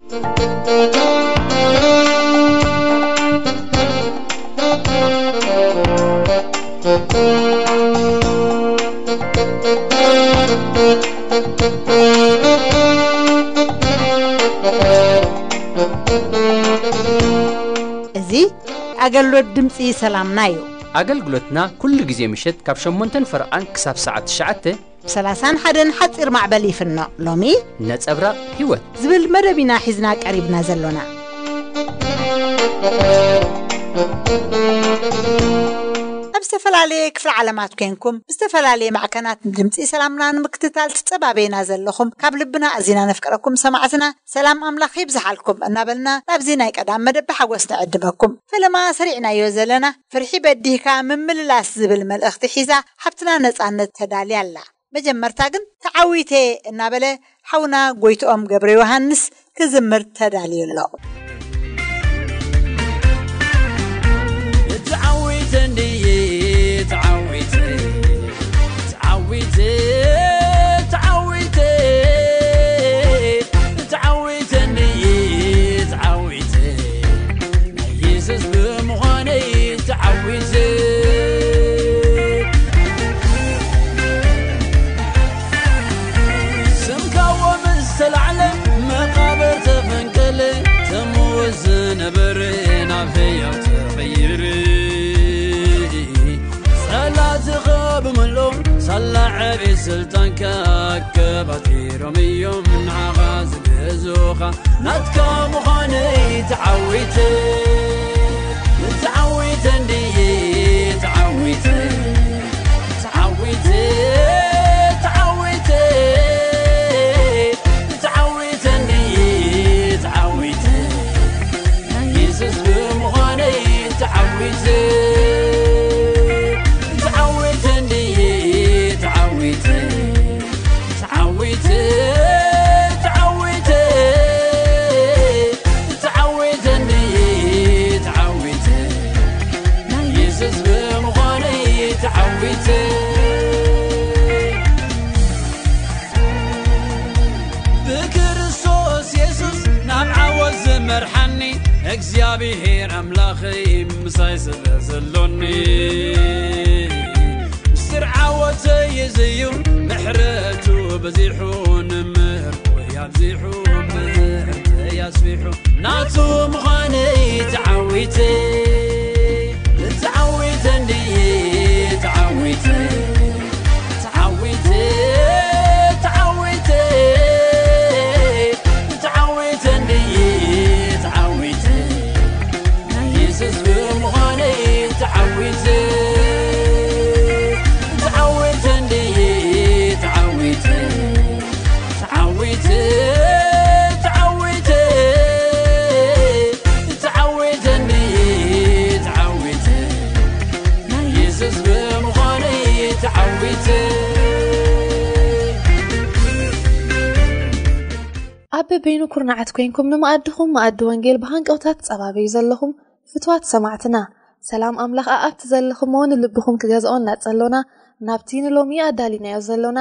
እዚ ኣገልግሎት ድምፂ ሰላምና እዩ። ኣገልግሎትና ኩሉ ግዜ ምሸት ካብ ሸሞንተን ፈረቓን ክሳብ ሰዓት ትሽዓተ ብ ሰላሳን ሓደን ሓፂር ማዕበል ይፍኖ። ሎሚ ነጸብራቕ ህይወት ዝብል መደብ ኢና ሒዝና ቀሪብና ዘሎና። ኣብ ዝተፈላለየ ክፍለ ዓለማት ኮንኩም ብዝተፈላለየ ማዕከናት ድምፂ ሰላምና ንምክትታል ትጸባበዩና ዘለኹም ካብ ልብና ኣዚና ነፍቅረኩም ሰማዕትና ሰላም ኣምላኽ ይብዝሓልኩም እናበልና ናብዚ ናይ ቀዳም መደብ ብሓጎስ ንዕድመኩም። ፈለማ ሰሪዕናዮ ዘለና ፍርሒ በዲህካ ምምልላስ ዝብል መልእኽቲ ሒዛ ሓብትና ነጻነት ተዳልያ ኣላ። መጀመርታ ግን ተዓዊተ እናበለ ሓውና ጎይትኦም ገብረ ዮሃንስ ክዝምር ተዳልዩ ኣሎ። ተዓዊተ እንድየ ተዓዊተ ተዓዊተ ተዓዊተ ተዓዊተ እንድየ ተዓዊተ ናይ የሱስ ብምዃነይ ተዓዊተ። ስምካ ምስ ተላዕለ መቓብር ተፈንቀለ፣ ተምውት ዝነበረ ናብ ህያው ተቐይረ። ጸላእትኻ ብምልኦም ሳላ ዕቤት ስልጣንካ ኣከባቲሮም እዮም ንዓኻ ዝገዝኡኻ። ናትካ ምዃነይ ተዓዊተ፣ ተዓዊተ እንድየ ተዓዊተ። ተዓዊተ፣ ተዓዊተ፣ ተዓዊተ እንድየ ተዓዊተ። ናይ የሱስ ብምዃነይ ተዓዊተ። ተዓዊተ እንድየ ተዓዊተ። ተዓዊተ፣ ተዓዊተ፣ ተዓዊተ እንድየ ተዓዊተ። ናይ የሱስ ብምዃነይ ተዓዊተ። ብክርስቶስ የሱስ ናብ ዓወት ዝመርሓኒ እግዚኣብሔር ኣምላኸይ ምሳይ ስለ ዘሎኒ። ምስጢር ዓወተይ እዚ እዩ፣ ምሕረቱ በዚሑ፣ ንምህርኩ ኣብዚሑ፣ ምህርተይ ኣስፊሑ። ናቱ ምዃነይ ተዓዊተ፣ ተዓዊተ እንድየ ተዓዊተ። ተዓዊተ፣ ተዓዊተ፣ ተዓዊተ እንድየ ተዓዊተ። ናይ የሱስ ብምዃነይ ተዓዊተ። ተዓዊተ እንድየ ተዓዊተ። ተዓዊተ፣ ተዓዊተ፣ ተዓዊተ እንድየ ተዓዊተ። ናይ የሱስ ብምዃነይ ተዓዊተ። ኣብ በበይኑ ኩርናዓት ኮይንኩም ንመኣድኹም መኣዲ ወንጌል ብሃንቀውታ ትጸባበዩ ዘለኹም ፍትዋት ሰማዕትና፣ ሰላም ኣምላኽ ኣኣብቲ ዘለኹሞ ንልብኹም ክገዝኦ እናጸሎና፣ ናብቲ ንሎሚ ኣዳሊናዮ ዘሎና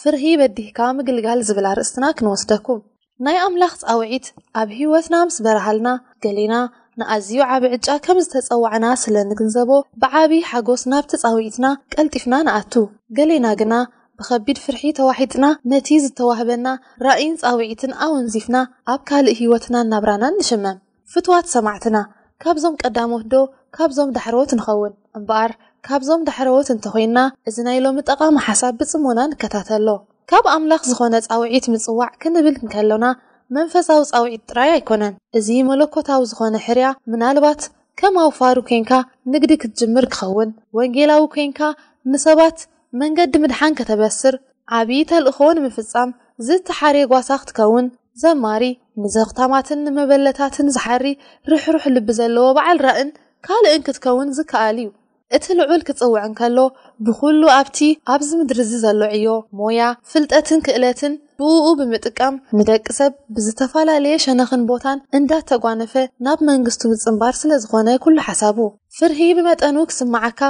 ፍርሂ በዲህካ ምግልጋል ዝብል ኣርእስትና ክንወስደኩም። ናይ ኣምላኽ ጻውዒት ኣብ ህይወትና ምስ በርሃልና፣ ገሌና ንኣዝዩ ዓቢ ዕጫ ከም ዝተጸዋዕና ስለ ንግንዘቦ፣ ብዓቢ ሓጎስ ናብቲ ጻውዒትና ቀልጢፍና ንኣቱ። ገሌና ግና ብኸቢድ ፍርሒ ተዋሒጥና፣ ነቲ ዝተዋህበና ራእይን ጻውዒትን ኣወንዚፍና ኣብ ካልእ ህይወትናን ናብራናን ንሽመም። ፍትዋት ሰማዕትና፣ ካብዞም ቀዳሞት ዶ ካብዞም ዳሕረዎት ንኸውን? እምበኣር፣ ካብዞም ዳሕረዎት እንተኾይንና፣ እዚ ናይ ሎሚ ጠቓሚ ሓሳብ ብጽሞና ንከታተሎ። ካብ ኣምላኽ ዝኾነ ጻውዒት ምጽዋዕ ክንብል እንከሎና፣ መንፈሳዊ ጻውዒት ጥራይ ኣይኮነን። እዚ መለኮታዊ ዝኾነ ሕርያ፣ ምናልባት ከም ኣውፋሩ ኬንካ ንግዲ ክትጅምር ክኸውን፣ ወንጌላዊ ኬንካ ንሰባት መንገዲ ምድሓን ከተበስር፣ ዓቢ ተልእኾ ንምፍጻም ዝተሓርየ ጓሳ ክትከውን፣ ዘማሪ፣ ንዘኽታማትን ንመበለታትን ዝሓሪ ርሕሩሕ ልቢ ዘለዎ በዓል ራእን ካልእን ክትከውን ዝከኣል እዩ። እቲ ልዑል ክጽውዕ እንከሎ፣ ብኹሉ ኣብቲ ኣብዚ ምድሪ እዚ ዘሎ ዕዮ፣ ሞያ፣ ፍልጠትን ክእለትን ብእኡ ብምጥቃም፣ ንደቂ ሰብ ብዝተፈላለየ ሸነኽን ቦታን እንዳተጓነፈ ናብ መንግስቱ ምጽንባር ስለ ዝኾነ ኩሉ ሓሳቡ። ፍርሂ ብመጠኑ ክስምዓካ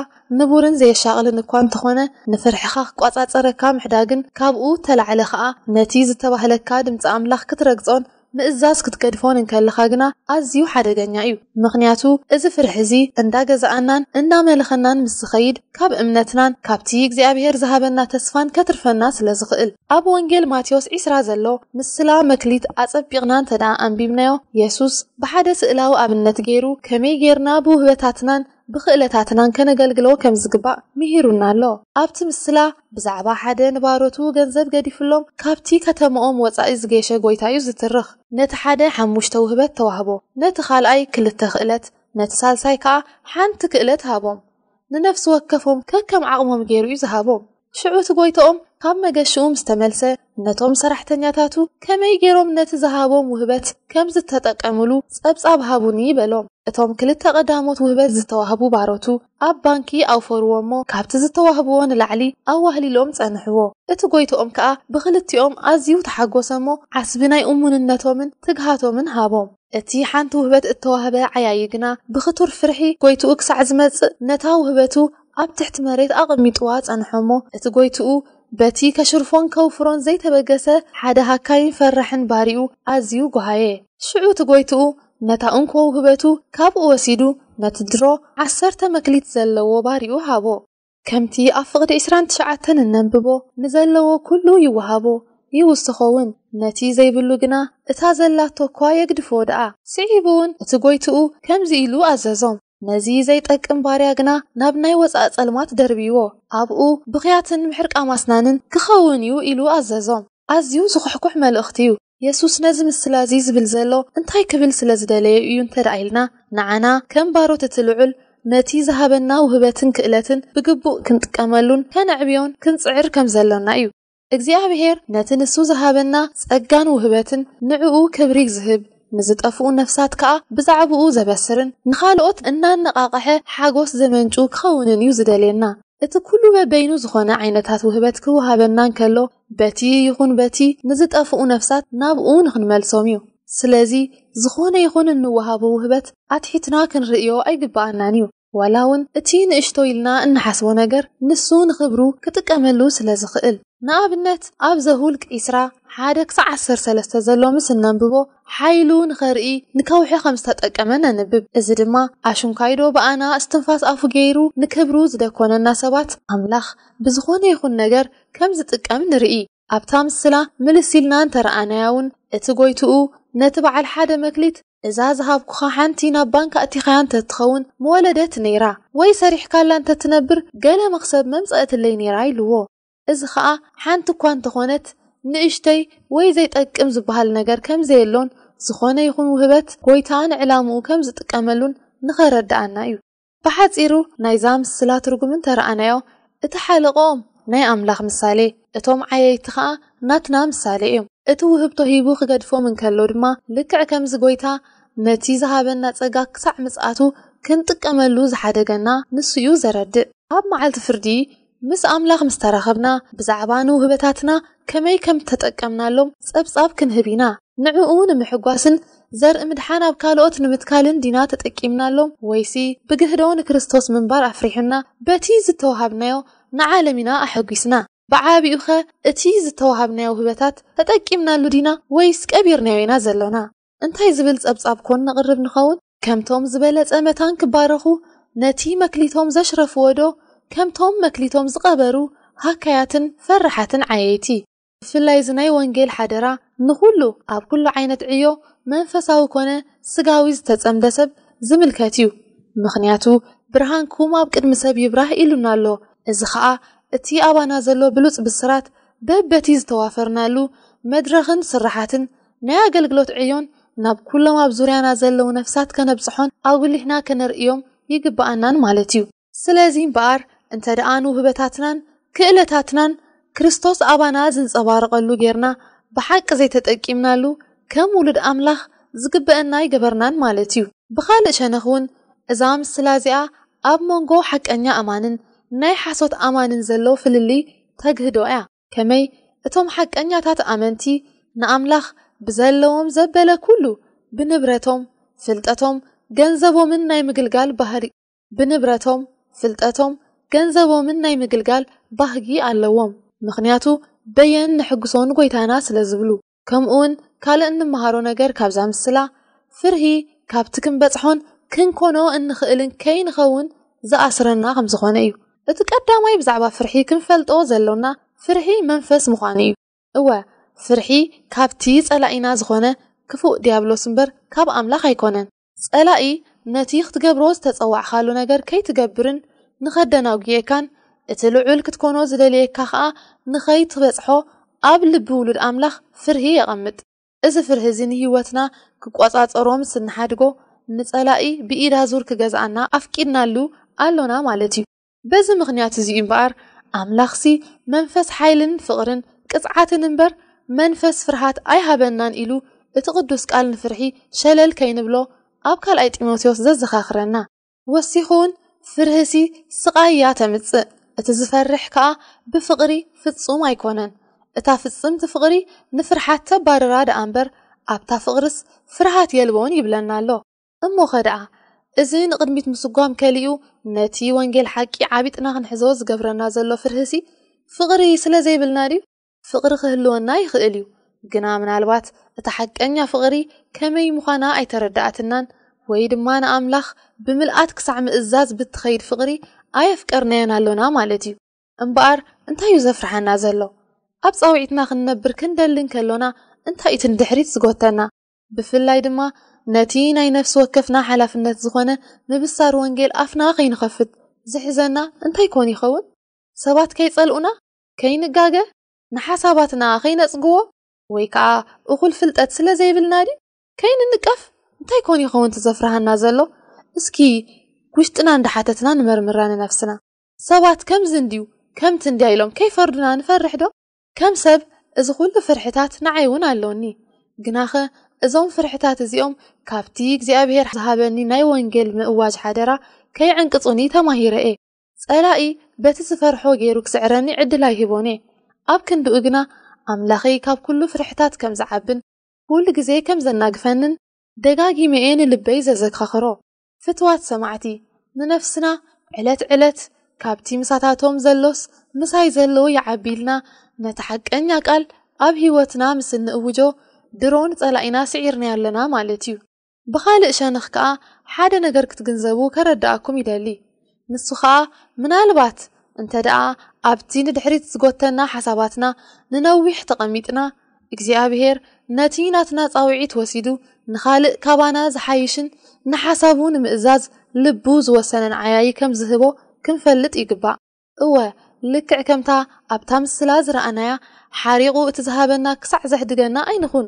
ንቡርን ዘየሻቕልን እኳ እንተኾነ፣ ንፍርሕኻ ክቋጻጸረካ ምሕዳግን ካብኡ እተላዕለ ኸኣ ነቲ ዝተባህለካ ድምጺ ኣምላኽ ክትረግጾን ምእዛዝ ክትገድፎን እንከለኻ ግና ኣዝዩ ሓደገኛ እዩ። ምኽንያቱ እዚ ፍርሒ እዚ እንዳገዛኣናን እንዳመለኸናን ምስ ዝኸይድ፣ ካብ እምነትናን ካብቲ እግዚኣብሔር ዝሃበና ተስፋን ከትርፈና ስለ ዝኽእል። ኣብ ወንጌል ማቴዎስ ዒስራ ዘሎ ምስላ መክሊት ኣጸቢቕና እንተ ደኣ ኣንቢብናዮ፣ የሱስ ብሓደ ስእላዊ ኣብነት ገይሩ ከመይ ጌርና ብውህበታትናን ብኽእለታትናን ከነገልግሎ ከም ዝግባእ ምሂሩና ኣሎ። ኣብቲ ምስላ ብዛዕባ ሓደ ንባሮቱ ገንዘብ ገዲፍሎም ካብቲ ከተማኦም ወጻኢ ዝገሸ ጎይታ እዩ ዝትርኽ። ነቲ ሓደ ሓሙሽተ ውህበት ተዋህቦ፣ ነቲ ካልኣይ ክልተ ክእለት፣ ነቲ ሳልሳይ ከኣ ሓንቲ ክእለት ሃቦም። ንነፍሲ ወከፎም ከከም ዓቕሞም ገይሩ እዩ ዝሃቦም። ሽዑ እቲ ጎይታኦም ካብ መገሽኡ ምስ ተመልሰ፣ ነቶም ሰራሕተኛታቱ ከመይ ገይሮም ነቲ ዝሃቦም ውህበት ከም ዝተጠቀምሉ ጸብጻብ ሃቡኒ በሎም። እቶም ክልተ ቀዳሞት ውህበት ዝተዋህቡ ባሮቱ ኣብ ባንኪ ኣውፈርዎ እሞ፣ ካብቲ ዝተዋህብዎ ንላዕሊ ኣዋህሊሎም ጸንሕዎ። እቲ ጎይታኦም ከኣ ብኽልቲኦም ኣዝዩ ተሓጎሰ እሞ፣ ዓስቢ ናይ እሙንነቶምን ትግሃቶምን ሃቦም። እቲ ሓንቲ ውህበት እተዋህበ ዓያዪ ግና ብኽቱር ፍርሒ ጎይትኡ ክሳዕ ዝመጽእ ነታ ውህበቱ ኣብ ትሕቲ መሬት ኣቐሚጥዋ ጸንሖ እሞ፣ እቲ ጎይትኡ በቲ ከሽርፎን ከውፍሮን ዘይተበገሰ ሓደ ሃካይን ፈራሕን ባሪኡ ኣዝዩ ጓሃየ። ሽዑ እቲ ጎይትኡ ነታ እንኮ ውህበቱ ካብኡ ወሲዱ ነቲ ድሮ ዓሰርተ መክሊት ዘለዎ ባሪኡ ሃቦ። ከምቲ ኣብ ፍቕዲ ዕስራን ትሽዓተን እነንብቦ፣ ንዘለዎ ኩሉ ይወሃቦ፣ ይውስኾ እውን፣ ነቲ ዘይብሉ ግና እታ ዘላቶ እኳ የግድፎ ደኣ። ስዒቡ እውን እቲ ጎይትኡ ከምዚ ኢሉ ኣዘዞም፣ ነዚ ዘይጠቅም ባርያ ግና ናብ ናይ ወጻእ ጸልማት ደርብይዎ፣ ኣብኡ ብኽያትን ምሕርቃም ኣስናንን ክኸውን እዩ ኢሉ ኣዘዞም። ኣዝዩ ዝኹሕኩሕ መልእኽቲ እዩ። የሱስ ነዚ ምስላ እዚ ዝብል ዘሎ እንታይ ክብል ስለ ዝደለየ እዩ እንተ ደኣ ኢልና፣ ንዓና ከም ባሮት እቲ ልዑል ነቲ ዝሃበና ውህበትን ክእለትን ብግቡእ ክንጥቀመሉን ከነዕብዮን ክንጽዕር ከም ዘሎና እዩ። እግዚኣብሔር ነቲ ንሱ ዝሃበና ጸጋን ውህበትን ንዕኡ ክብሪ ዝህብ፣ ንዝጠፍኡ ነፍሳት ከኣ ብዛዕባኡ ዘበስርን ንኻልኦት እናነቓቕሐ ሓጎስ ዘመንጩ ክኸውንን እዩ ዝደልየና። እቲ ኩሉ በበይኑ ዝኾነ ዓይነታት ውህበት ክወሃበና እንከሎ፣ በቲ ይኹን በቲ ንዝጠፍኡ ነፍሳት ናብኡ ንኽንመልሶም እዩ። ስለዚ ዝኾነ ይኹን እንወሃቦ ውህበት ኣትሒትና ክንርእዮ ኣይግብኣናን እዩ። ዋላ እውን እቲ ንእሽቶ ኢልና እንሓስቦ ነገር ንሱ ንኽብሩ ክጥቀመሉ ስለ ዝኽእል። ንኣብነት ኣብ ዘሁልቅ ዒስራ ሓደ ክሳዕ ዓሰርተ ሰለስተ ዘሎ ምስ እነንብቦ፣ ሓይሉ ንኸርኢ ንከውሒ ከም ዝተጠቀመ ነንብብ። እዚ ድማ ኣሽንኳይዶ ብኣና እስትንፋስ ኣፉ ገይሩ ንክብሩ ዝደኮነና ሰባት፣ ኣምላኽ ብዝኾነ ይኹን ነገር ከም ዝጥቀም ንርኢ። ኣብታ ምስላ ምልስ ኢልና እንተረኣናያ እውን፣ እቲ ጎይትኡ ነቲ በዓል ሓደ መክሊት፣ "እዛ ዝሃብኩኻ ሓንቲ ናብ ባንክ ኣእቲኻያ እንተትኸውን ምወለደት ነይራ፣ ወይ ሰሪሕካላ እንተትነብር ገለ መኽሰብ መምጸእትለይ ነይራ" ኢልዎ። እዚ ኸኣ ሓንቲ እኳ እንተኾነት ንእሽተይ ወይ ዘይጠቅም ዝበሃል ነገር ከም ዘየሎን፣ ዝኾነ ይኹን ውህበት ጎይታ ንዕላምኡ ከም ዝጥቀመሉን ንኸረድኣና እዩ። ብሓጺሩ ናይዛ ምስላ ትርጉም እንተረኣናዮ፣ እቲ ሓለቕኦም ናይ ኣምላኽ ምሳሌ፣ እቶም ዓየይቲ ኸኣ ናትና ምሳሌ እዮም። እቲ ውህብቶ ሂቡ ክገድፎም እንከሎ ድማ፣ ልክዕ ከምዚ ጎይታ ነቲ ዝሃበና ጸጋ ክሳዕ ምጽኣቱ ክንጥቀመሉ ዝሓደገና ንሱ እዩ ዘረድእ። ኣብ መዓልቲ ፍርዲ ምስ ኣምላኽ ምስ ተራኸብና፣ ብዛዕባ ንውህበታትና ከመይ ከም እተጠቀምናሎም ጸብጻብ ክንህብ ኢና። ንዕኡ ንምሕጓስን ዘርኢ ምድሓን ኣብ ካልኦት ንምትካልን ዲና ተጠቂምናሎም፣ ወይሲ ብግህዶ ንክርስቶስ ምንባር ኣፍሪሑና፣ በቲ ዝተዋሃብናዮ ንዓለም ኢና ኣሐጒስና? ብዓቢኡኸ እቲ ዝተዋሃብናዮ ውህበታት ተጠቂምናሉ ዲና ወይስ ቀቢርናዮ ኢና ዘሎና? እንታይ ዝብል ጸብጻብ ኮን ነቕርብ ንኸውን? ከምቶም ዝበለጸ መታን ክባረኹ ነቲ መክሊቶም ዘሽረፍዎ ዶ፣ ከምቶም መክሊቶም ዝቐበሩ ሃካያትን ፈራሓትን ዓየይቲ? ብፍላይ እዚ ናይ ወንጌል ሓደራ ንኹሉ፣ ኣብ ኩሉ ዓይነት ዕዮ፣ መንፈሳዊ ኮነ ስጋዊ፣ ዝተጸምደ ሰብ ዝምልከት እዩ። ምኽንያቱ፣ "ብርሃንኩም ኣብ ቅድሚ ሰብ ይብራህ" ኢሉና ኣሎ። እዚ ኸኣ እቲ ኣባና ዘሎ ብሉጽ ብስራት በበቲ ዝተዋፈርናሉ መድረኽን ስራሓትን ናይ ኣገልግሎት ዕዮን ናብ ኩሎም ኣብ ዙርያና ዘለዉ ነፍሳት ከነብጽሖን ኣጉሊሕና ከነርእዮም ይግብኣናን ማለት እዩ። ስለዚ እምበኣር፣ እንተ ደኣ ንውህበታትናን ክእለታትናን ክርስቶስ ኣባና ዝንጸባረቐሉ ጌርና ብሓቂ ዘይተጠቂምናሉ፣ ከም ውሉድ ኣምላኽ ዝግበአና ኣይገበርናን ማለት እዩ። ብኻልእ ሸነኽ እውን፣ እዛ ምስላ እዚኣ ኣብ መንጎ ሓቀኛ ኣማንን ናይ ሓሶት ኣማንን ዘሎ ፍልልይ ተግህዶ እያ። ከመይ? እቶም ሓቀኛታት ኣመንቲ ንኣምላኽ ብዘለዎም ዘበለ ኩሉ፣ ብንብረቶም፣ ፍልጠቶም፣ ገንዘቦምን ናይ ምግልጋል ባህሪ፣ ብንብረቶም፣ ፍልጠቶም፣ ገንዘቦምን ናይ ምግልጋል ባህጊ ኣለዎም። ምኽንያቱ በየን ንሕግሶ ንጎይታና ስለ ዝብሉ። ከምኡውን ካልእ እንመሃሮ ነገር ካብዛ ምስላ፣ ፍርሂ ካብቲ ክንበጽሖን ክንኮኖ እንኽእልን ከይንኸውን ዝኣስረና ከም ዝኾነ እዩ። እቲ ቀዳማይ ብዛዕባ ፍርሒ ክንፈልጦ ዘሎና፣ ፍርሒ መንፈስ ምዃኑ እዩ። እወ፣ ፍርሒ ካብቲ ጸላኢና ዝኾነ ክፉእ ዲያብሎስ እምበር ካብ ኣምላኽ ኣይኮነን። ጸላኢ ነቲ ክትገብሮ ዝተጸዋዕኻሉ ነገር ከይትገብርን ንኸደናጉየካን፣ እቲ ልዑል ክትኮኖ ዝደልየካ ኸኣ ንኸይትበጽሖ ኣብ ልቢ ውሉድ ኣምላኽ ፍርሂ የቐምጥ። እዚ ፍርሂ እዚ ንህይወትና ክቆጻጸሮ ምስ እንሓድጎ፣ ንጸላኢ ብኢድ ኣዙር ክገዝኣና ኣፍቂድናሉ ኣሎና ማለት እዩ። በዚ ምኽንያት እዚ እዩ እምበኣር፣ ኣምላኽሲ መንፈስ ሓይልን ፍቕርን ቅጽዓትን እምበር፣ መንፈስ ፍርሃት ኣይሃበናን ኢሉ እቲ ቅዱስ ቃል ንፍርሒ ሸለል ከይንብሎ ኣብ ካልኣይ ጢሞቴዎስ ዘዘኻኽረና። ወሲኹ እውን፣ ፍርህሲ ስቓይ እያ ተምጽእ፣ እቲ ዝፈርሕ ከኣ ብፍቕሪ ፍጹም ኣይኮነን። እታ ፍጽምቲ ፍቕሪ ንፍርሓት ተባርራ ደኣ እምበር፣ ኣብታ ፍቕርስ ፍርሃት የልቦን ይብለና ኣሎ። እሞኸ ደኣ፣ እዚ ንቕድሚት ምስጓም ከሊኡ፣ ነቲ ወንጌል ሓቂ ዓቢጥና ክንሕዞ ዝገብረና ዘሎ ፍርህሲ፣ ፍቕሪ ስለ ዘይብልና ድዩ? ፍቕሪ ክህልወና ይኽእል እዩ፣ ግና ምናልባት እታ ሓቀኛ ፍቕሪ ከመይ ምዃና ኣይተረድኣትናን፣ ወይ ድማ ንኣምላኽ ብምልኣት ክሳዕ ምእዛዝ ብትኸይድ ፍቕሪ ኣየፍቀርናዮን ኣሎና ማለት እዩ። እምበኣር፣ እንታይ እዩ ዘፍርሓና ዘሎ? ኣብ ጻውዒትና ክንነብር ክንደሊ እንከሎና፣ እንታይ እቲ ንድሕሪት ዝጎተና? ብፍላይ ድማ፣ ነቲ ናይ ነፍሲ ወከፍና ሓላፍነት ዝኾነ ምብሳር ወንጌል ኣፍና ከይንኸፍት ዝሕዘና እንታይ ኮን ይኸውን? ሰባት ከይጸልኡና፣ ከይንጋገ፣ ንሓሳባትና ከይነጽግዎ፣ ወይ ከኣ እኹል ፍልጠት ስለ ዘይብልና ድዩ? ከይንንቀፍ፣ እንታይ ኮን ይኸውን እቲ ዘፍርሃና ዘሎ? እስኪ ውሽጥና እንዳሓተትና ንመርምራ ንነፍስና። ሰባት ከምዚ እንድዩ፣ ከምቲ እንድያ ኢሎም ከይፈርዱና ንፈርሕ ዶ? ከም ሰብ፣ እዚ ኩሉ ፍርሕታት ንዓይ እውን ኣሎኒ። ግናኸ፣ እዞም ፍርሕታት እዚኦም ካብቲ እግዚኣብሔር ዝሃበኒ ናይ ወንጌል ምእዋጅ ሓደራ ከይዕንቅጹኒ ተማሂረ እየ። ጸላኢ በቲ ዝፈርሖ ገይሩ ክስዕረኒ ዕድል ኣይህቦን እየ። ኣብ ክንድኡ ግና፣ ኣምላኸይ ካብ ኩሉ ፍርሕታት ከም ዝዓብን ኩሉ ግዜ ከም ዘናግፈንን ደጋጊመ እየ ንልበይ ዘዘካኽሮ። ፍትዋት ሰማዕቲ፣ ንነፍስና ዕለት ዕለት ካብቲ ምሳታቶም ዘሎስ ምሳይ ዘሎ ይዓቢ ኢልና ነቲ ሓቀኛ ቃል ኣብ ህይወትና ምስ እንእውጆ፣ ድሮ ንጸላኢና ስዒርናዮ ኣለና ማለት እዩ። ብኻልእ ሸነኽ ከኣ ሓደ ነገር ክትግንዘቡ ከረድኣኩም ይደሊ። ንሱ ኸኣ ምናልባት እንተ ደኣ ኣብቲ ንድሕሪት ዝጎተና ሓሳባትና ንነዊሕ ተቐሚጥና፣ እግዚኣብሔር ነቲ ናትና ጻውዒት ወሲዱ ንኻልእ ካባና ዝሓይሽን ንሓሳቡ ንምእዛዝ ልቡ ዝወሰነን ዓያዪ ከም ዝህቦ ክንፈልጥ ይግባእ። እወ፣ ልክዕ ከምታ ኣብታ ምስላ ዝረኣናያ፣ ሓሪቑ እቲ ዝሃበና ክሳዕ ዘሕድገና ኣይንኹን።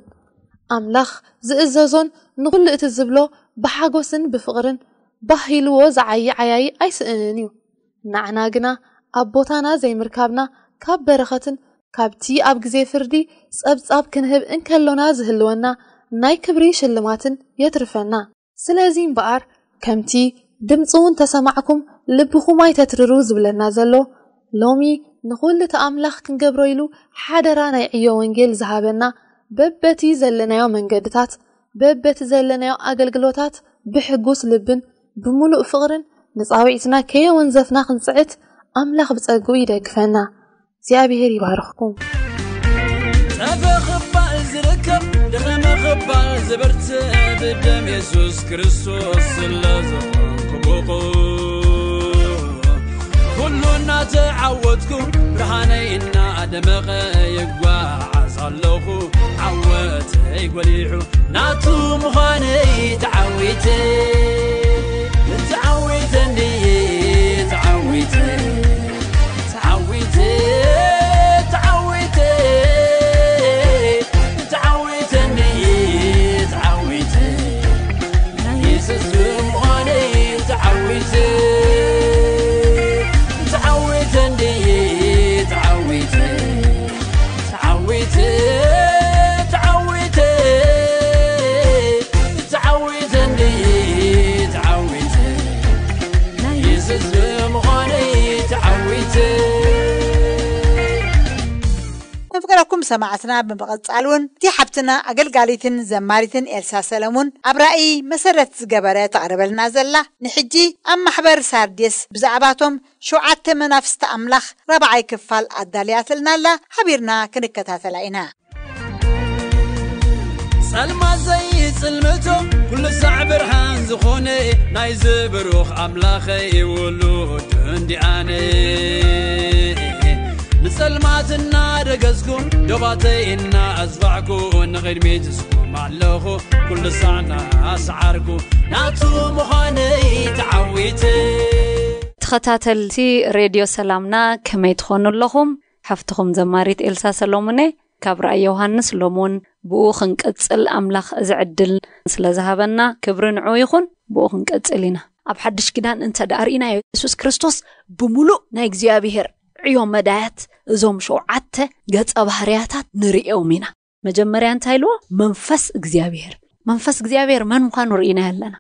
ኣምላኽ ዝእዘዞን ንኹሉ እቲ ዝብሎ ብሓጎስን ብፍቕርን ባህ ኢልዎ ዝዓዪ ዓያዪ ኣይስእንን እዩ። ንዓና ግና ኣብ ቦታና ዘይምርካብና ካብ በረኸትን ካብቲ ኣብ ግዜ ፍርዲ ጸብጻብ ክንህብ እንከሎና ዝህልወና ናይ ክብሪ ሽልማትን የትርፈና። ስለዚ እምበኣር፣ ከምቲ "ድምጹ እንተ ሰማዕኩም ልብኹም ኣይተትርሩ" ዝብለና ዘሎ፣ ሎሚ ንኹሉ እቲ ኣምላኽ ክንገብሮ ኢሉ ሓደራ ናይ ዕዮ ወንጌል ዝሃበና፣ በበቲ ዘለናዮ መንገድታት፣ በበቲ ዘለናዮ ኣገልግሎታት ብሕጉስ ልብን ብምሉእ ፍቕርን ንጻውዒትና ከየወንዘፍና ክንጽዕት ኣምላኽ ብጸግኡ ይደግፈና። እግዚኣብሔር ይባርኽኩም። ጸበ ኽባእ ዝርከብ ድኸመ ኽባእ ዝብርትዕ ብደም የሱስ ክርስቶስ ስለ ዝኾንኩ ብቑእ፣ ኩሉ እናተዓወትኩ ብርሃነይ እናደመቐ ይጓዓዝ ኣለኹ። ዓወተይ ጎሊሑ ናቱ ምዃነይ ተዓዊተ፣ ተዓዊተ እንድየ ተዓዊተ። ተዓዊተ፣ ተዓዊተ፣ ተዓዊተ እንድየ ተዓዊተ። ናይ የሱስ ብምዃነይ ተዓዊተ። ተዓዊተ እንድየ ተዓዊተ። ተዓዊተ፣ ተዓዊተ፣ ተዓዊተ እንድየ ተዓዊተ። ናይ የሱስ ብምዃነይ ተዓዊተ። መፍቀረኩም ሰማዕትና፣ ብምቕጻል እውን እቲ ሓብትና ኣገልጋሊትን ዘማሪትን ኤልሳ ሰለሙን ኣብ ራእይ መሰረት ዝገበረ ተቕርበልና ዘላ፣ ንሕጂ ኣብ ማሕበር ሳርዴስ ብዛዕባቶም ሸውዓተ መናፍስቲ ኣምላኽ ራብዓይ ክፋል ኣዳልያትልና ኣላ። ሓቢርና ክንከታተላ ኢና። ጸልማት ዘይጽልምቶ ኩሉ ሳዕ ብርሃን ዝኾነ ናይዚ ብሩኽ ኣምላኸይ ውሉድ እንዲኣነ። ንጸልማት እናደገዝኩ ዶባተይ እናኣዝባዕኩ ንቕድሚት ዝስኩም ኣለኹ ኩሉ ሳዕ እናሰዓርኩ ናቱ ምዃነይ ተዓዊተ። ተኸታተልቲ ሬድዮ ሰላምና ከመይ ትኾኑ ኣለኹም? ሓፍትኹም ዘማሪት ኤልሳ ሰሎሙን እየ ካብ ራእይ ዮሃንስ። ሎም እውን ብኡ ክንቅጽል ኣምላኽ እዚ ዕድል ስለ ዝሃበና ክብሪ ንዑ ይኹን። ብኡ ክንቅጽል ኢና። ኣብ ሓድሽ ኪዳን እንተ ደኣ ርኢናዮ፣ የሱስ ክርስቶስ ብምሉእ ናይ እግዚኣብሔር ዕዮ መዳያት እዞም ሸውዓተ ገጸ ባህርያታት ንርእዮም ኢና። መጀመርያ እንታይ ኢልዎ? መንፈስ እግዚኣብሔር። መንፈስ እግዚኣብሔር መን ምዃኑ ርኢናዮ ኣለና።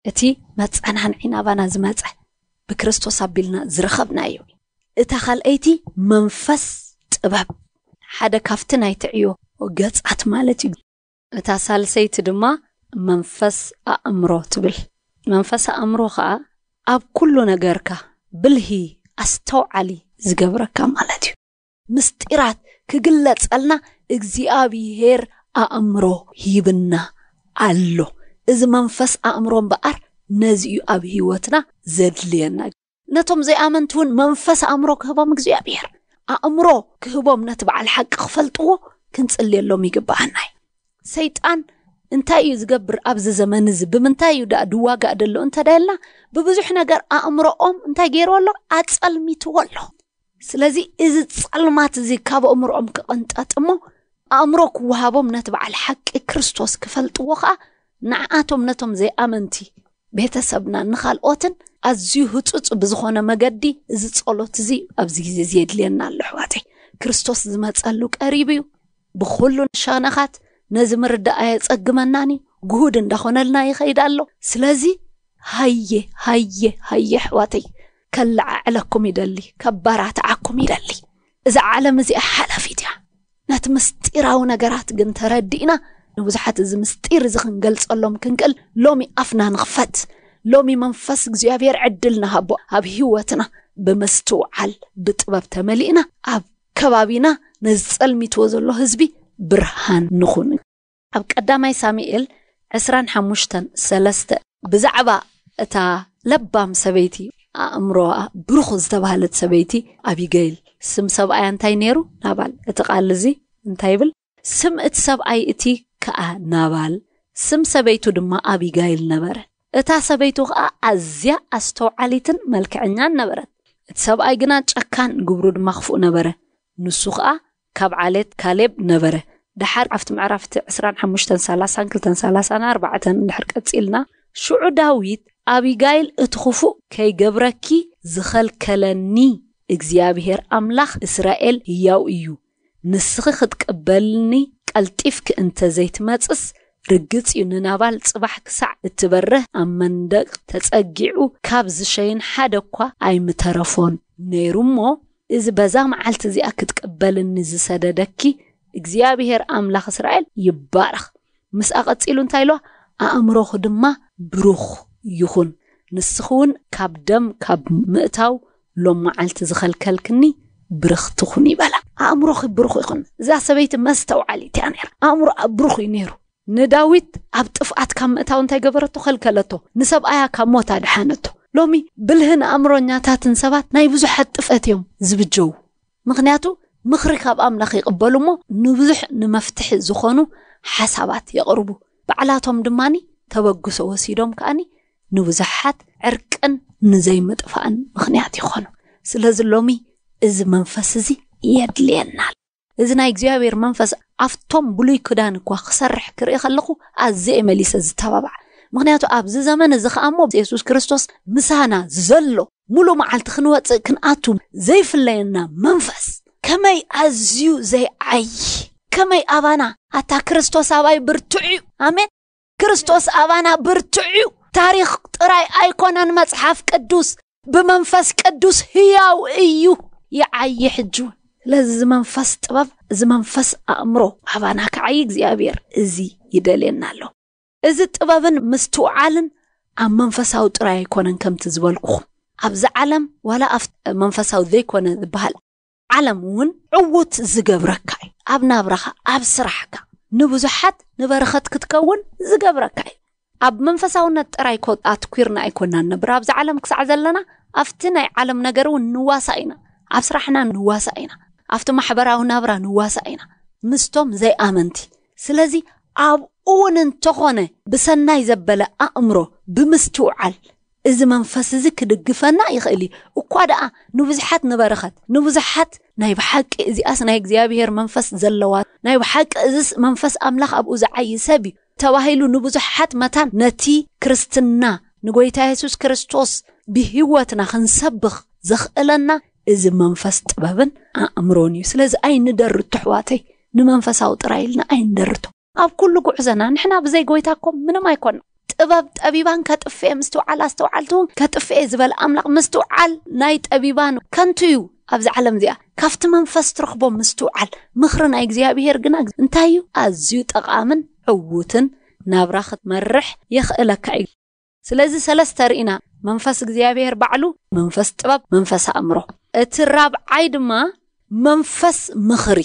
እቲ መጸናንዒ ናባና ዝመጸ ብክርስቶስ ኣቢልና ዝረኸብናዮ። እታ ካልኣይቲ መንፈስ ጥበብ፣ ሓደ ካብቲ ናይቲ ዕዮ ገጻት ማለት እዩ። እታ ሳልሰይቲ ድማ መንፈስ ኣእምሮ ትብል። መንፈስ ኣእምሮ ኸኣ ኣብ ኩሉ ነገርካ ብልሂ፣ ኣስተውዓሊ ዝገብረካ ማለት እዩ። ምስጢራት ክግለጸልና እግዚኣብሔር ኣእምሮ ሂብና ኣሎ። እዚ መንፈስ ኣእምሮ እምበኣር ነዚ እዩ ኣብ ህይወትና ዘድልየና። ነቶም ዘይኣመንቲ እውን መንፈስ ኣእምሮ ክህቦም እግዚኣብሔር፣ ኣእምሮ ክህቦም ነቲ በዓል ሓቂ ክፈልጥዎ ክንጽልየሎም ይግብኣና እዩ። ሰይጣን እንታይ እዩ ዝገብር ኣብዚ ዘመን እዚ? ብምንታይ እዩ ደኣ ድዋጋእ ደሎ እንተ ደልና፣ ብብዙሕ ነገር ኣእምሮኦም እንታይ ገይርዎ ኣሎ? ኣጸልሚትዎ ኣሎ። ስለዚ እዚ ጸልማት እዚ ካብ ኣእምሮኦም ክቕንጠጥ እሞ፣ ኣእምሮ ክወሃቦም ነቲ በዓል ሓቂ ክርስቶስ ክፈልጥዎ ኸኣ፣ ንዓኣቶም ነቶም ዘይኣመንቲ ቤተሰብና ንኻልኦትን ኣዝዩ ህጹጽ ብዝኾነ መገዲ እዚ ጸሎት እዚ ኣብዚ ግዜ እዚ የድልየና ኣሎ ኣሕዋተይ። ክርስቶስ ዝመጸሉ ቀሪቡ እዩ። ብኹሉ ሸነኻት ነዚ ምርዳእ ኣየጸግመናን እዩ። ግሁድ እንዳኾነልና ይኸይድ ኣሎ። ስለዚ ሃየ፣ ሃየ፣ ሃየ ኣሕዋተይ፣ ከለዓዕለኩም ይደሊ፣ ከባራትዓኩም ይደሊ። እዛ ዓለም እዚኣ ሓላፊት እያ። ነቲ ምስጢራዊ ነገራት ግን ተረዲእና ንብዙሓት እዚ ምስጢር እዚ ክንገልጸሎም ክንክእል ሎሚ ኣፍና ንኽፈት። ሎሚ መንፈስ እግዚኣብሔር ዕድል ንሃቦ ኣብ ህይወትና ብምስትውዓል ብጥበብ ተመሊእና ኣብ ከባቢና ነዚ ጸልሚትዎ ዘሎ ህዝቢ ብርሃን ንኹን። ኣብ ቀዳማይ ሳሙኤል ዕስራን ሓሙሽተን ሰለስተ ብዛዕባ እታ ለባም ሰበይቲ ኣእምሮኣ ብሩኽ ዝተባህለት ሰበይቲ ኣቢገይል ስም ሰብኣያ እንታይ ነይሩ? ናባል። እቲ ቃል እዚ እንታይ ይብል? ስም እቲ ሰብኣይ እቲ ከኣ ናባል፣ ስም ሰበይቱ ድማ ኣቢጋይል ነበረ። እታ ሰበይቱ ከኣ ኣዝያ ኣስተውዓሊትን መልክዐኛን ነበረት። እቲ ሰብኣይ ግና ጨካን፣ ግብሩ ድማ ክፉእ ነበረ። ንሱ ከኣ ካብ ዓሌት ካሌብ ነበረ። ደሓር ኣብቲ ምዕራፍ እቲ ዕስራን ሓሙሽተን ሰላሳን ክልተን ሰላሳን ኣርባዕተን እንድሕር ቀጺልና፣ ሽዑ ዳዊት ኣቢጋይል እቲ ክፉእ ከይገብረኪ ዝኸልከለኒ እግዚኣብሔር ኣምላኽ እስራኤል ህያው እዩ። ንስኺ ክትቅበልኒ ቀልጢፍኪ እንተ ዘይትመጽስ፣ ርግጽ እዩ ንናባል ጽባሕ ክሳዕ እትበርህ ኣብ መንደቕ ተጸጊዑ ካብ ዝሸይን ሓደ እኳ ኣይምተረፎን ነይሩ እሞ፣ እዚ በዛ መዓልቲ እዚኣ ክትቅበልኒ ዝሰደደኪ እግዚኣብሔር ኣምላኽ እስራኤል ይባረኽ። ምስኣ ቀጺሉ እንታይ ኢልዋ? ኣእምሮኺ ድማ ብሩኽ ይኹን፣ ንስኺ እውን ካብ ደም ካብ ምእታው ሎም መዓልቲ ዝኸልከልክኒ ብርኽቲ ኩኒ በላ። ኣእምሮኺ ብሩኽ ይኹን። እዛ ሰበይቲ መስተውዓሊት እያ ነይራ። ኣእምሮኣ ብሩኽ እዩ ነይሩ። ንዳዊት ኣብ ጥፍኣት ካብ ምእታው እንታይ ገበረቶ? ከልከለቶ። ንሰብኣያ ካብ ሞት ኣድሓነቶ። ሎሚ ብልህን ኣእምሮኛታትን ሰባት ናይ ብዙሓት ጥፍኣት እዮም ዝብጀው። ምኽንያቱ ምኽሪ ካብ ኣምላኽ ይቕበሉ እሞ ንብዙሕ ንመፍትሒ ዝኾኑ ሓሳባት የቕርቡ። ባዕላቶም ድማኒ ተበግሶ ወሲዶም ከኣኒ ንብዙሓት ዕርቅን ንዘይምጥፋእን ምኽንያት ይኾኑ። ስለዚ ሎሚ እዚ መንፈስ እዚ የድልየና ኣሎ። እዚ ናይ እግዚኣብሔር መንፈስ ኣብቶም ብሉይ ክዳን እኳ ክሰርሕ ክርኢ ከለኹ ኣዝየ እየ መሊሰ ዝተባባዕ። ምኽንያቱ ኣብዚ ዘመን እዚ ከኣ እሞ የሱስ ክርስቶስ ምሳና ዘሎ፣ ሙሉ መዓልቲ ክንወጽእ ክንኣቱ ዘይፍለየና መንፈስ ከመይ ኣዝዩ ዘይዓዪ፣ ከመይ ኣባና ኣታ ክርስቶስ ኣባይ ብርቱዕ እዩ። ኣሜን። ክርስቶስ ኣባና ብርቱዕ እዩ። ታሪኽ ጥራይ ኣይኮነን መጽሓፍ ቅዱስ፣ ብመንፈስ ቅዱስ ህያው እዩ፣ ይዓዪ ሕጂ እውን። ስለዚ እዚ መንፈስ ጥበብ፣ እዚ መንፈስ ኣእምሮ ኣባና ክዓዪ እግዚኣብሔር እዚ ይደልየና ኣሎ። እዚ ጥበብን ምስትውዓልን ኣብ መንፈሳዊ ጥራይ ኣይኮነን ከምቲ ዝበልኩኹም። ኣብዚ ዓለም ዋላ ኣብ መንፈሳዊ ዘይኮነ ዝበሃል ዓለም እውን ዕዉት ዝገብረካ እዩ። ኣብ ናብራኻ፣ ኣብ ስራሕካ፣ ንብዙሓት ንበረኸት ክትከውን ዝገብረካ እዩ። ኣብ መንፈሳውነት ጥራይ ኮ ኣትኲርና ኣይኮናን ነብር። ኣብዛ ዓለም ክሳዕ ዘለና ኣብቲ ናይ ዓለም ነገር እውን ንዋሳእ ኢና። ኣብ ስራሕና ንዋሳእ ኢና። ኣብቲ ማሕበራዊ ናብራ ንዋሳእ ኢና ምስቶም ዘይኣመንቲ። ስለዚ ኣብኡ እውን እንተኾነ ብሰናይ ዘበለ ኣእምሮ ብምስትውዓል እዚ መንፈስ እዚ ክድግፈና ይኽእል እዩ። እኳ ደኣ ንብዙሓት ንበረኸት፣ ንብዙሓት ናይ ብሓቂ እዚኣስ ናይ እግዚኣብሔር መንፈስ ዘለዋ፣ ናይ ብሓቂ እዝስ መንፈስ ኣምላኽ ኣብኡ ዝዓዪ ሰብ እዩ ተባሂሉ ንብዙሓት መታን ነቲ ክርስትና ንጎይታ የሱስ ክርስቶስ ብህይወትና ክንሰብኽ ዘኽእለና እዚ መንፈስ ጥበብን ኣእምሮን እዩ። ስለዚ ኣይንደርቶ ኣሕዋተይ፣ ንመንፈሳዊ ጥራይ ኢልና ኣይንደርቶ። ኣብ ኩሉ ጉዕዞና ንሕና ብዘይ ጎይታ እኮ ምንም ኣይኮና። ጥበብ ጠቢባን ከጥፍኤ ምስትውዓል ኣስተውዓልቲ እውን ከጥፍኤ ዝበለ ኣምላኽ ምስትውዓል ናይ ጠቢባን ከንቱ እዩ። ኣብዚ ዓለም እዚኣ ካብቲ መንፈስ ትረኽቦ ምስትውዓል ምኽሪ ናይ እግዚኣብሔር ግና እንታይ እዩ? ኣዝዩ ጠቓምን ዕዉትን ናብራ ክትመርሕ የኽእለካ እዩ። ስለዚ ሰለስተ ርኢና፣ መንፈስ እግዚኣብሔር ባዕሉ፣ መንፈስ ጥበብ፣ መንፈስ ኣእምሮ። እቲ ራብዓይ ድማ መንፈስ ምኽሪ፣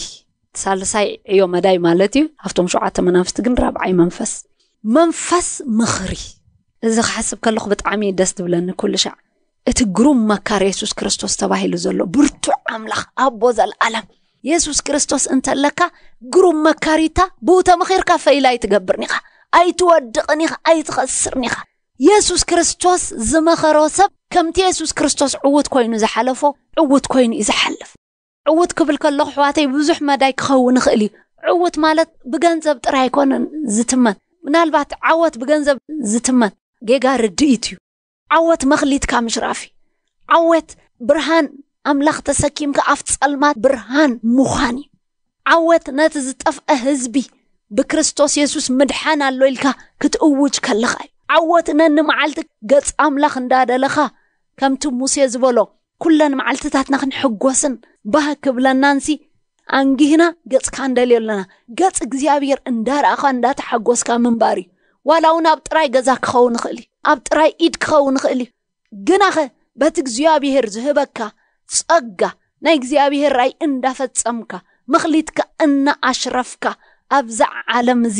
ሳልሳይ ዕዮ መዳይ ማለት እዩ። ኣብቶም ሸውዓተ መናፍስቲ ግን ራብዓይ መንፈስ፣ መንፈስ ምኽሪ። እዚ ክሓስብ ከለኹ ብጣዕሚ ደስ ዝብለኒ ኩሉ ሻዕ እቲ ግሩም መካር የሱስ ክርስቶስ ተባሂሉ ዘሎ ብርቱዕ ኣምላኽ ኣቦ ዘለኣለም የሱስ ክርስቶስ እንተለካ ግሩም መካሪታ ብኡ ተመኺርካ ፈይላ ኣይትገብርን ኢኻ፣ ኣይትወድቕን ኢኻ፣ ኣይትኸስርን ኢኻ። የሱስ ክርስቶስ ዝመኸሮ ሰብ ከምቲ የሱስ ክርስቶስ ዕዉት ኮይኑ ዝሓለፎ ዕዉት ኮይኑ እዩ ዝሓልፍ። ዕዉት ክብል ከለኹ ኣሕዋተይ ብዙሕ መዳይ ክኸውን ይኽእል እዩ። ዕዉት ማለት ብገንዘብ ጥራይ ኣይኮነን ዝትመን። ምናልባት ዓወት ብገንዘብ ዝትመን ጌጋ ርድኢት እዩ። ዓወት መኽሊትካ ምሽራፍ እዩ። ዓወት ብርሃን ኣምላኽ ተሰኪምካ ኣብ ጸልማት ብርሃን ምዃን እዩ። ዓወት ነቲ ዝጠፍአ ህዝቢ ብክርስቶስ የሱስ ምድሓን ኣሎ ኢልካ ክትእውጅ ከለኻ እዩ። ዓወት ነኒ መዓልቲ ገጽ ኣምላኽ እንዳደለኻ ከምቲ ሙሴ ዝበሎ ኩለን መዓልትታትና ክንሕጎስን ባህ ክብለናንሲ ኣንጊህና ገጽካ እንደልዮ ኣለና። ገጽ እግዚኣብሔር እንዳረኣኻ እንዳተሓጎስካ ምንባር እዩ። ዋላ እውን ኣብ ጥራይ ገዛ ክኸውን ይኽእል እዩ፣ ኣብ ጥራይ ኢድ ክኸውን ይኽእል እዩ። ግናኸ በቲ እግዚኣብሔር ዝህበካ ጸጋ ናይ እግዚኣብሔር ራይ እንዳፈጸምካ መኽሊትካ እናኣሽረፍካ ኣብዛ ዓለም እዚ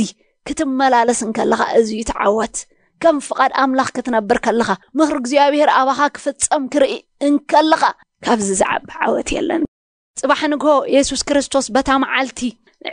ክትመላለስ እንከለኻ እዚ እዩ እቲ ዓወት። ከም ፍቓድ ኣምላኽ ክትነብር ከለኻ ምኽሪ እግዚኣብሔር ኣባኻ ክፍጸም ክርኢ እንከለኻ ካብዚ ዝዓቢ ዓወት የለን። ጽባሕ ንግሆ የሱስ ክርስቶስ በታ መዓልቲ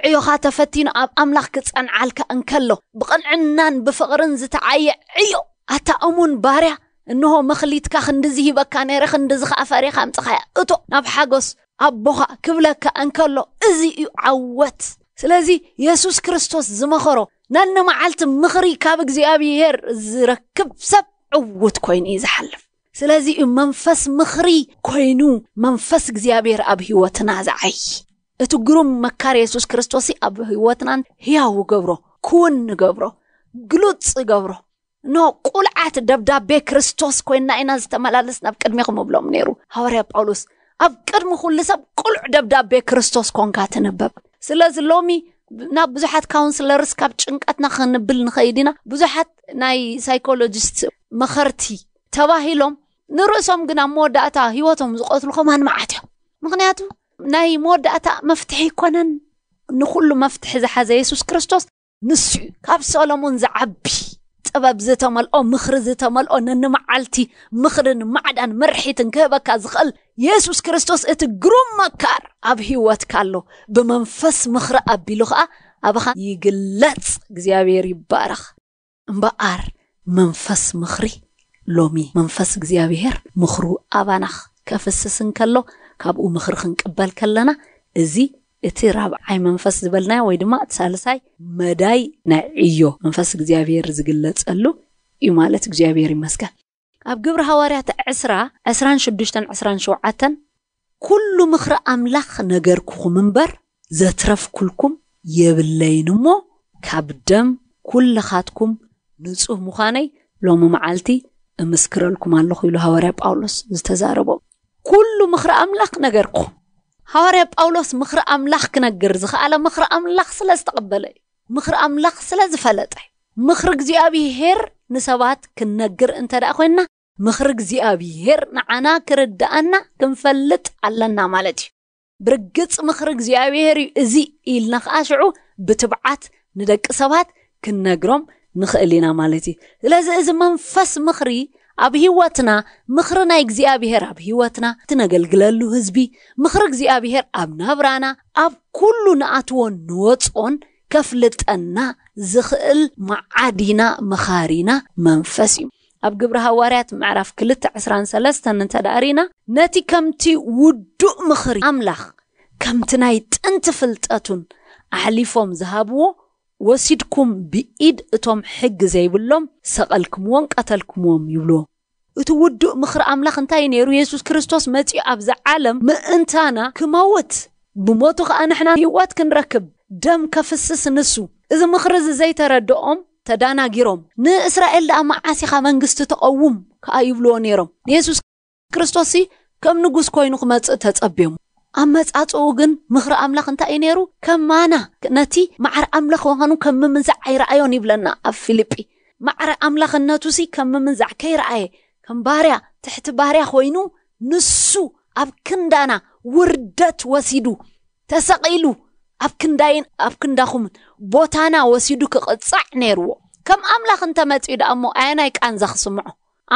ዕዮኻ ተፈቲኑ ኣብ ኣምላኽ ክጸንዓልካ እንከሎ ብቕንዕናን ብፍቕርን ዝተዓየ ዕዮ ኣታ እሙን ባርያ፣ እንሆ መኽሊትካ ክንድዚ ሂበካ ነይረ፣ ክንድዚ ኸኣ ፈሪኻ ኣምጽኻያ፣ እቶ ናብ ሓጎስ ኣቦኻ ክብለካ እንከሎ እዚ እዩ ዓወት። ስለዚ የሱስ ክርስቶስ ዝመኸሮ ነኒ መዓልቲ ምኽሪ ካብ እግዚኣብሔር ዝረክብ ሰብ ዕዉት ኮይኑ እዩ ዝሓልፍ። ስለዚ እዩ መንፈስ ምኽሪ ኮይኑ መንፈስ እግዚኣብሔር ኣብ ህይወትና ዝዓይ። እቲ ግሩም መካር የሱስ ክርስቶስ ኣብ ህይወትናን ህያው ገብሮ፣ ክውን ንገብሮ፣ ግሉጽ ገብሮ። ኖ ቁልዓት ደብዳቤ ክርስቶስ ኮይና ኢና ዝተመላለስ ናብ ቅድሜኹም እብሎም ነይሩ ሃዋርያ ጳውሎስ። ኣብ ቅድሚ ኩሉ ሰብ ቁሉዕ ደብዳቤ ክርስቶስ ኮንካ ትንበብ። ስለዚ ሎሚ ናብ ብዙሓት ካውንስለርስ ካብ ጭንቀትና ክንብል ንኸይድ ኢና። ብዙሓት ናይ ሳይኮሎጂስት መኸርቲ ተባሂሎም ንርእሶም ግን ኣብ መወዳእታ ህይወቶም ዝቐትሉ ከማን መዓት እዮም። ምኽንያቱ ናይ መወዳእታ መፍትሒ ይኮነን። ንኹሉ መፍትሒ ዝሓዘ የሱስ ክርስቶስ ንሱ እዩ። ካብ ሰሎሞን ዝዓቢ ጥበብ ዝተመልኦ፣ ምኽሪ ዝተመልኦ፣ ነንመዓልቲ ምኽርን ማዕዳን መርሒትን ክህበካ ዝኽእል የሱስ ክርስቶስ እቲ ግሩም መካር ኣብ ህይወትካ ኣሎ። ብመንፈስ ምኽሪ ኣቢሉ ኸኣ ኣባኻ ይግለጽ። እግዚኣብሔር ይባረኽ። እምበኣር መንፈስ ምኽሪ ሎሚ መንፈስ እግዚኣብሔር ምኽሩ ኣባና ከፍስስ እንከሎ ካብኡ ምኽሪ ክንቅበል ከለና እዚ እቲ ራብዓይ መንፈስ ዝበልናዮ ወይ ድማ እቲ ሳልሳይ መዳይ ናይ ዕዮ መንፈስ እግዚኣብሔር ዝግለጸሉ እዩ ማለት እግዚኣብሔር ይመስገን። ኣብ ግብሪ ሃዋርያት ዕስራ ዕስራን ሽዱሽተን ዕስራን ሸውዓተን ኩሉ ምኽሪ ኣምላኽ ነገርኩኹም እምበር ዘትረፍኩልኩም የብለይን እሞ ካብ ደም ኩልኻትኩም ንጹህ ምዃነይ ሎሚ መዓልቲ እምስክረልኩም ኣለኹ ኢሉ ሃዋርያ ጳውሎስ ዝተዛረቦ። ኩሉ ምኽሪ ኣምላኽ ነገርኩ። ሃዋርያ ጳውሎስ ምኽሪ ኣምላኽ ክነግር ዝኸኣለ ምኽሪ ኣምላኽ ስለ ዝተቐበለ እዩ። ምኽሪ ኣምላኽ ስለ ዝፈለጠ እዩ። ምኽሪ እግዚኣብሔር ንሰባት ክንነግር እንተ ደኣ ኮይንና ምኽሪ እግዚኣብሔር ንዓና ክርድኣና ክንፈልጥ ኣለና ማለት እዩ። ብርግጽ ምኽሪ እግዚኣብሔር እዩ እዚ ኢልና ኸኣ ሽዑ ብትብዓት ንደቂ ሰባት ክንነግሮም ንኽእል ኢና ማለት እዩ። ስለዚ እዚ መንፈስ ምኽሪ ኣብ ህይወትና፣ ምኽሪ ናይ እግዚኣብሔር ኣብ ህይወትና፣ እቲ ነገልግለሉ ህዝቢ፣ ምኽሪ እግዚኣብሔር ኣብ ናብራና፣ ኣብ ኩሉ ንኣትዎን ንወፅኦን ከፍልጠና ዝኽእል መዓዲና መኻሪና መንፈስ እዩ። ኣብ ግብሪ ሃዋርያት ምዕራፍ ክልተ ዕስራን ሰለስተን እንተ ደኣ ርኢና፣ ነቲ ከምቲ ውዱእ ምኽሪ ኣምላኽ ከምቲ ናይ ጥንቲ ፍልጠቱን ኣሕሊፎም ዝሃብዎ፣ ወሲድኩም ብኢድ እቶም ሕጊ ዘይብሎም ሰቐልክምዎም፣ ቀተልክምዎም ይብልዎ። እቲ ውዱእ ምኽሪ ኣምላኽ እንታይ እዩ ነይሩ? የሱስ ክርስቶስ መጺኡ ኣብዛ ዓለም ምእንታና ክመውት፣ ብሞቱ ኸኣ ንሕና ህይወት ክንረክብ፣ ደም ከፍስስ ንሱ። እዚ ምኽሪ እዚ ዘይተረድኦም ተዳናጊሮም፣ "ንእስራኤል ደኣ መዓስ ኢኻ መንግስቲ ተቐውም?" ከኣ ይብልዎ ነይሮም። ንየሱስ ክርስቶስሲ ከም ንጉስ ኮይኑ ክመጽእ ተጸብዮም። ኣመጻጽኡ ግን ምኽሪ ኣምላኽ እንታይ እዩ ነይሩ? ከማና ነቲ ማዕረ ኣምላኽ ምዃኑ ከም ምምንዛዕ ኣይረኣዮን ይብለና ኣብ ፊልጲ። ማዕረ ኣምላኽነቱሲ ከም ምምንዛዕ ከይረኣየ፣ ከም ባርያ፣ ትሕቲ ባርያ ኮይኑ ንሱ ኣብ ክንዳና ውርደት ወሲዱ፣ ተሰቒሉ፣ ኣብ ክንዳይን ኣብ ክንዳኹምን ቦታና ወሲዱ ክቕጻዕ ነይርዎ። ከም ኣምላኽ እንተመጺኡ ደኣ እሞ ኣየናይ ቃንዛ ክስምዖ?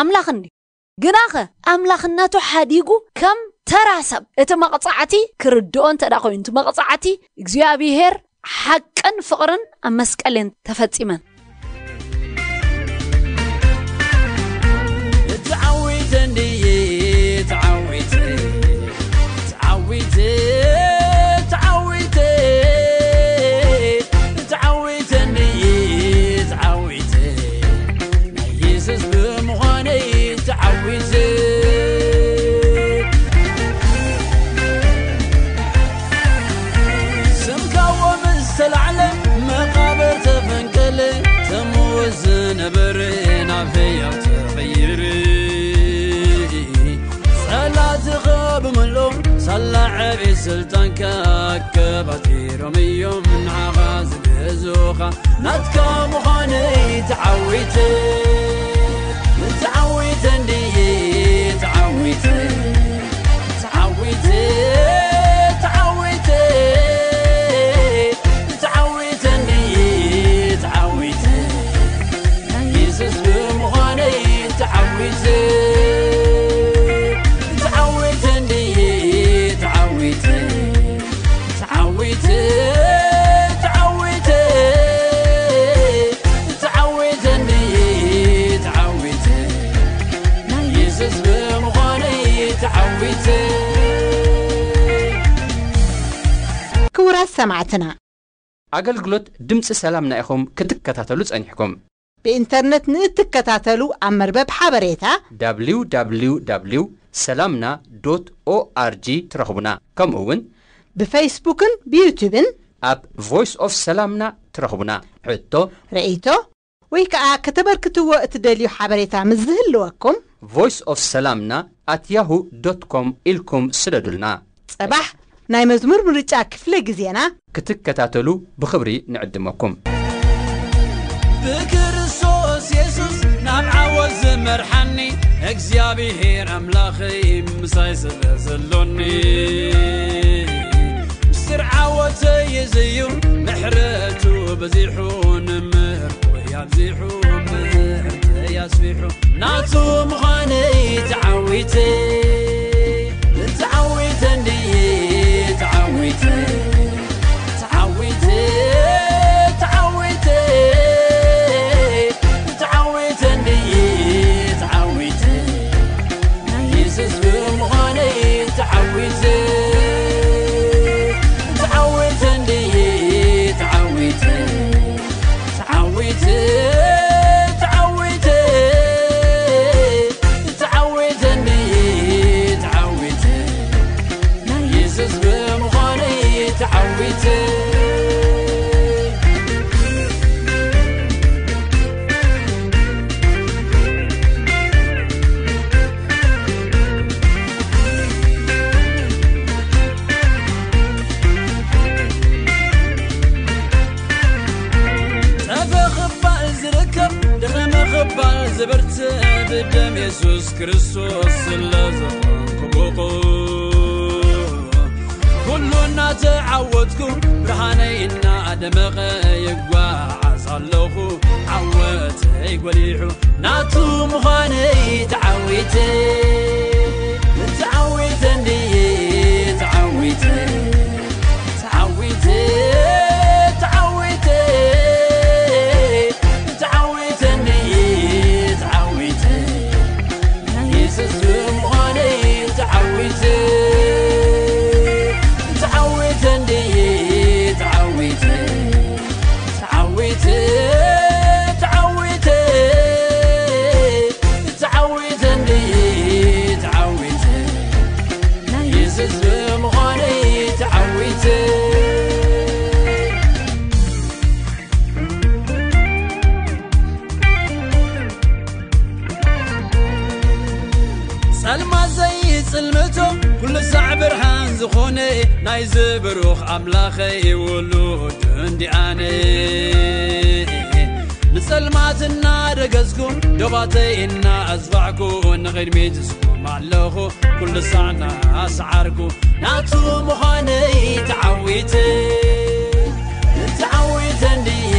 ኣምላኽ እንድዩ። ግናኸ ኣምላኽነቱ ሓዲጉ ከም ተራ ሰብ እቲ መቕጻዕቲ ክርድኦ እንተ ደኣ ኮይኑ፣ እቲ መቕጻዕቲ እግዚኣብሔር ሓቅን ፍቕርን ኣብ መስቀል እየን ተፈጺመን። ተዓዊተ እንድየ፣ ተዓዊተ፣ ተዓዊተ፣ ተዓዊተ፣ ተዓዊተ እንድየ፣ ተዓዊተ፣ ናይ የሱስ ብምዃነይ ተዓዊተ። ስምካ ምስ ተላዕለ መቓብር ተፈንቀለ፣ ተምውት ዝነበረ ናብ ህያው ተቐይረ። ጸላእትኻ ብምልኦም ሳላ ዕቤት ስልጣንካ ኣከባቲሮም እዮም ንዓኻ ዝገዝኡኻ። ናትካ ምዃነይ ተዓዊተ፣ ተዓዊተ እንድየ፣ ተዓዊተ፣ ተዓዊተ፣ ተዓዊተ፣ ተዓዊተ እንድየ፣ ተዓዊተ። ናይ የሱስ ብምዃነይ ተዓዊተ፣ ተዓዊተ እንድየ፣ ተዓዊተ። ተዓዊተ፣ ተዓዊተ፣ ተዓዊተ እንድየ፣ ተዓዊተ። ናይ የሱስ ብምዃነይ ተዓዊተ። ክቡራት ሰማዕትና፣ ኣገልግሎት ድምፂ ሰላምና ኢኹም ክትከታተሉ ጸኒሕኩም። ብኢንተርነት ንእትከታተሉ ኣብ መርበብ ሓበሬታ www ሰላምና ዶት ኦኣርጂ ትረኽቡና። ከምኡ እውን ብፌስቡክን ብዩቱብን ኣብ ቮይስ ኦፍ ሰላምና ትረኽቡና። ሕቶ፣ ርእይቶ ወይ ከዓ ከተበርክትዎ እትደልዩ ሓበሬታ ምስ ዝህልወኩም ቮይስ ኦፍ ሰላምና ኣት ያሁ ዶት ኮም ኢልኩም ስደዱልና። ጸባሕ ናይ መዝሙር ምርጫ ክፍለ ግዜና ክትከታተሉ ብኽብሪ ንዕድመኩም። ብክርስቶስ የሱስ ናብ ዓወት ዝመርሓኒ እግዚኣብሔር ኣምላኸይ ምሳይ ስለ ዘሎኒ፣ ምስጢር ዓወተይ እዚ እዩ ምሕረቱ በዚሑ፣ ንምህርቱ ኣብዚሑ፣ ምህርተይ ኣስፊሑ፣ ናቱ ምዃነይ ተዓዊተ፣ ተዓዊተ እንድየ፣ ተዓዊተ፣ ተዓዊተ፣ ተዓዊተ፣ ተዓዊተ እንድየ፣ ተዓዊተ፣ ናይ የሱስ ብምዃነይ ተዓዊተ፣ ተዓዊተ እንድየ፣ ተዓዊተ። ተዓዊተ፣ ተዓዊተ፣ ተዓዊተ እንድየ፣ ተዓዊተ። ናይ የሱስ ብምዃነይ ተዓዊተ። ጠፈ ክባል ዝርከብ፣ ድኸመ ክባል ዝብርትዕ፣ ብደም የሱስ ክርስቶስ ስለ ዝኾንኩ ብቑዕ። ኩሉ ናቱ ተዓወትኩ፣ ብርሃነይ እናደመቐ ይጓዓዝ ኣለኹ። ዓወተይ ጎሊሑ ናቱ ምዃነይ ተዓዊተ። ተዓዊተ እንድየ፣ ተዓዊተ። ተዓዊተ፣ ተዓዊተ። ተዓዊተ እንድየ፣ ተዓዊተ። የሱስ ብምዃነይ ተዓዊተ። ተዓዊተ እንድየ፣ ተዓዊተ። ተዓዊተ፣ ተዓዊተ። ተዓዊተ እንድየ፣ ተዓዊተ። ናይ የሱስ ብምዃነይ ተዓዊተ። ጸልማት ዘይጽልምቶ፣ ኩሉ ሳዕ ብርሃን ዝኾነ፣ ናይዚ ብሩኽ ኣምላኸይ ውሉድ እንዲኣነ። ንጸልማት እናደገዝኩ፣ ዶባተይ እናኣዝባዕኩ፣ ንቕድሚት እስኩም ኣለኹ፣ ኩሉ ሳዕ እናሰዓርኩ፣ ናቱ ምዃነይ ተዓዊተ። ተዓዊተ እንድየ፣